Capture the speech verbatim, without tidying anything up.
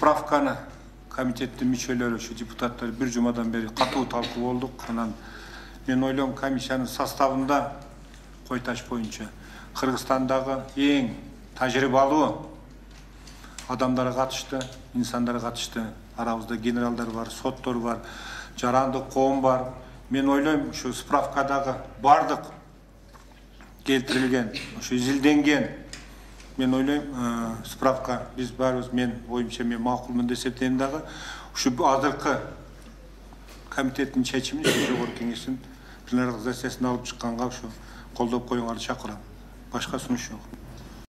справканы комитеттин мүчөлөрү, ушу депутаттар бир жумадан бери катуу талкуу болдук. Анан мен ойлойм, комиссиянын составында кой таш боюнча Кыргызстандагы эң тажрыйбалуу адамдар катышты, инсандар катышты. Арабызда генералдар бар, соттор бар, жарандык коом бар. Мен ойлойм, ушу справкадагы бардык келтирилген, ушу изилденген, мен ойлойм, справка биз баарыбыз, мен оюмча мен макулмун деп эсептейм дагы. Ушу азыркы комитеттин чечимин, жогорку кеңештин пленардык сессиясына алып чыкканга ушу колдоп коюңарды чакырам. Башка сунуш жок.